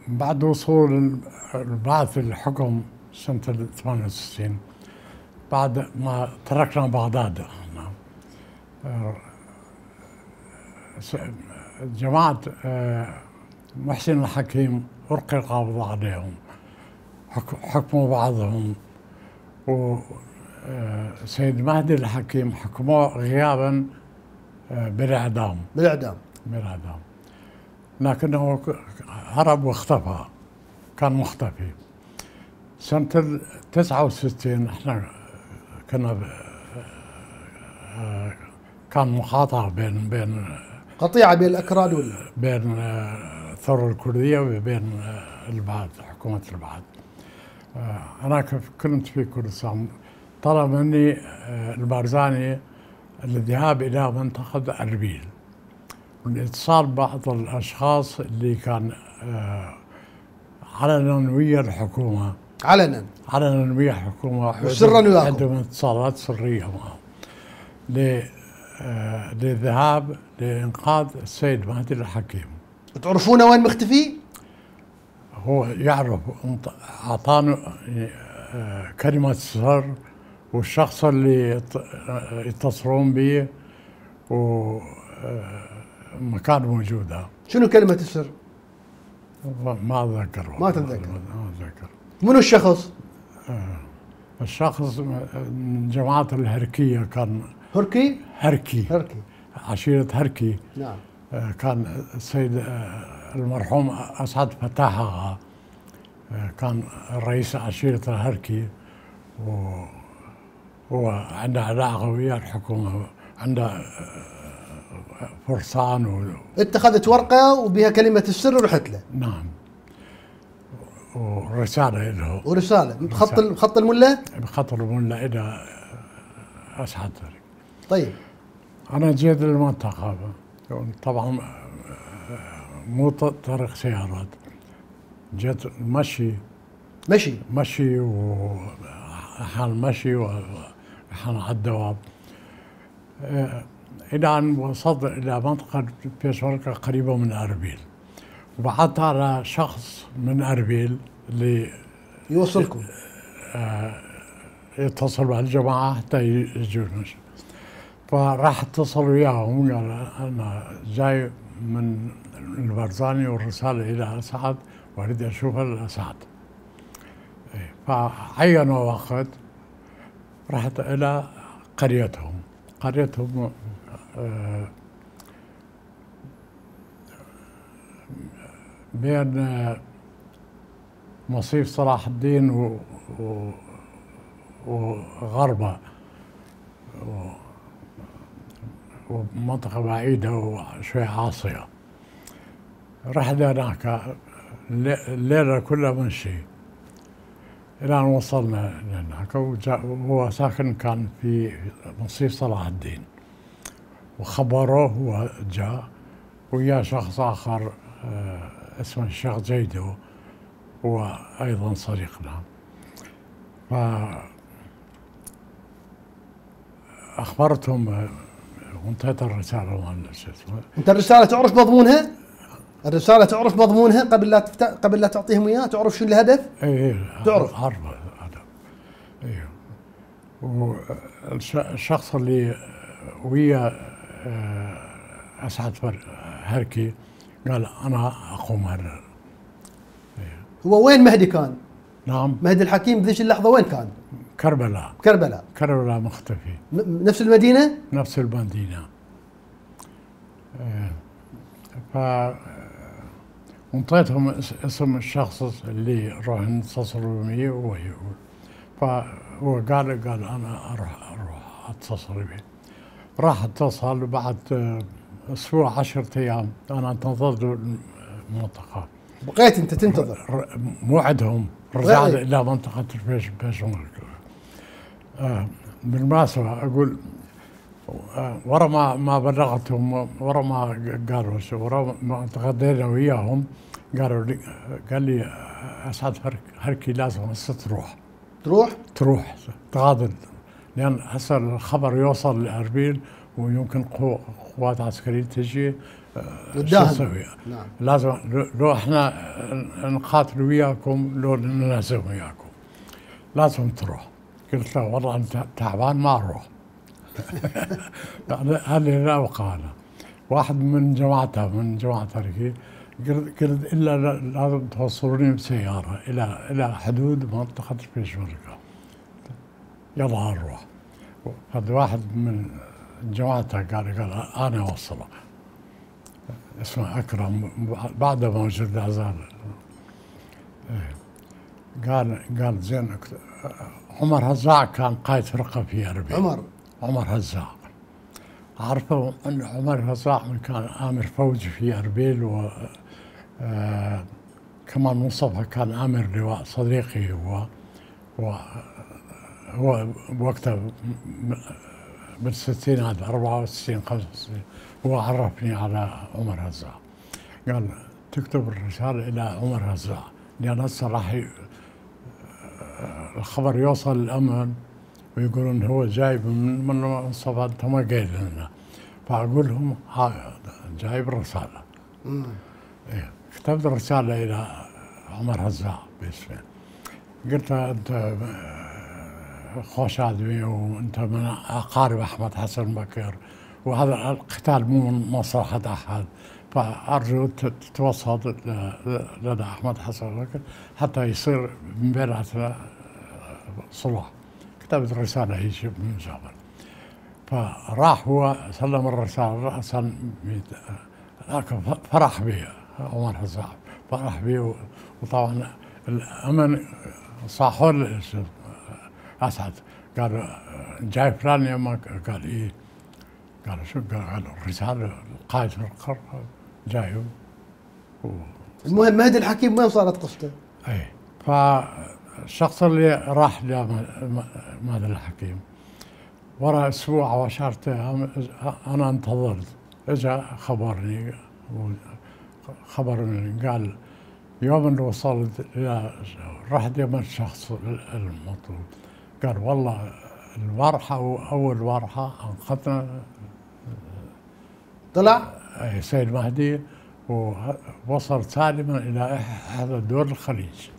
بعد وصول البعث للحكم سنة 68 بعد ما تركنا بغداد جماعة محسن الحكيم ألقي القبض عليهم، حكموا بعضهم، وسيد مهدي الحكيم حكموه غيابا بالإعدام. لكنه هرب واختفى، كان مختفي. سنة 69 احنا كان مقاطعة بين قطيعة بين الأكراد بين الثورة الكردية وبين البعث، حكومة البعث. أنا كنت في كردستان، طلب مني البارزاني الذهاب إلى منطقة أربيل والاتصال ببعض الأشخاص اللي كان علنا ويا الحكومة، علنا ويا الحكومة وسرا وياكم، عندهم اتصالات سرية معهم للذهاب لإنقاذ السيد مهدي الحكيم. تعرفونه وين مختفي؟ هو يعرف، أعطانا كلمة سر والشخص اللي يتصلون به ومكان موجودة. شنو كلمة السر؟ ما أتذكر. ما تتذكر؟ منو الشخص؟ الشخص من جماعة الهركية، كان هركي عشيرة هركي. نعم. كان السيد المرحوم أسعد فتاح آغا كان رئيس عشيرة الهركي، وعنده علاقة ويا الحكومة، عنده فرسان اتخذت ورقة وبها كلمة السر ورحت له. نعم، ورسالة له. ورسالة بخط الملة؟ بخط الملة إلى أسعد. طيب. أنا جيت للمنطقة، طبعا مو طريق سيارات، جيت مشي وأحيانا مشي وأحيانا على الدواب، إلى أن وصلت إلى منطقة بيشمركة قريبة من أربيل، وبعثت على شخص من أربيل اللي يوصلكم، يتصل بالجماعة حتى يجون. فراح اتصل وياهم قال أنا جاي من البرزاني والرسالة إلى أسعد وأريد أشوف الأسعد. فعينوا وقت، رحت إلى قريتهم بين مصيف صلاح الدين وغربة، ومنطقة بعيدة وشوي عاصية. رحنا هناك الليلة كلها منشي إلى أن وصلنا هناك، وهو ساكن كان في مصيف صلاح الدين، وخبروه هو جاء ويا شخص آخر اسمه الشيخ جيدو، هو أيضا صديقنا. فأخبرتهم وانتهت الرسالة. أنت الرسالة تعرف مضمونها؟ الرسالة تعرف مضمونها قبل لا تعطيهم إياها؟ تعرف شو الهدف؟ إيه تعرف؟ أعرف الهدف. إيه. والشخص اللي ويا أسعد هركي قال أنا أقوم هذا. إيه. هو وين مهدي كان؟ نعم. مهدي الحكيم بذيك اللحظة وين كان؟ كربلاء مختفي. نفس المدينة؟ نفس المدينة. وانطيتهم اسم الشخص اللي راح نتصلوا به، وهو يقول. فهو قال أنا أروح أتصل به. راح اتصل بعد أسبوع 10 أيام أنا انتظرت المنطقة. بقيت أنت تنتظر؟ موعدهم، رجعت إلى منطقة بيشمركة. بالمناسبة أقول ورا ما بلغتهم، ورا ما قالوا، ورا ما تغدينا وياهم، قال لي أسعد هركي لازم هسه تروح تغادر، لأن هسه الخبر يوصل لأربيل ويمكن قوات عسكرية تجي شو والداهم. نسوي؟ نعم. لازم لو احنا نقاتل وياكم لو ننهزم وياكم لازم تروح. قلت له والله انت تعبان ما اروح. هذه لا وقاله. واحد من جماعته من جماعة تركي قلت الا لازم توصلوني بسياره الى حدود منطقه البيشمركه. يلا نروح. هذا واحد من جماعته قال انا اوصلك. اسمه اكرم بعده موجود لا زال. قال زين. عمر هزاع كان قائد فرقه في اربيل. عمر هزاع عرفه ان عمر هزاع كان امر فوج في اربيل، و كمان مصطفى كان امر لواء صديقي هو بوقتها بالستينات 64 65. هو عرفني على عمر هزاع. قال تكتب الرساله الى عمر هزاع لان هسه راح الخبر يوصل الامن ويقولون هو جايب من مصطفى انت ما قايل لنا. فاقول لهم جايب الرساله. إيه. كتبت رساله الى عمر هزاع باسمه. قلت له انت خوش ادمي وانت من اقارب احمد حسن بكر وهذا القتال مو من مصلحه احد، فارجو تتوسط لدى احمد حسن بكر حتى يصير من بيناتنا صلح. كتبت رساله هيك من جابر. فراح هو سلم الرساله راسا فرح بي عمر هزاع، فرح بي. وطبعا الامن صاحوا له اسعد. قال جاي فلان يمك؟ قال ايه. قال شو؟ قال الرساله القائد القرى جاي. المهم مهدي الحكيم وين صارت قصته؟ اي. فالشخص اللي راح لمهدي الحكيم ورا اسبوع او 10 ايام انا انتظرت. اجى خبرني قال يوم اللي وصلت الى رحت يم الشخص المطلوب. قال والله البارحه اول بارحه انقذنا طلع سيد مهدي ووصل سالما الى احدى دول الخليج.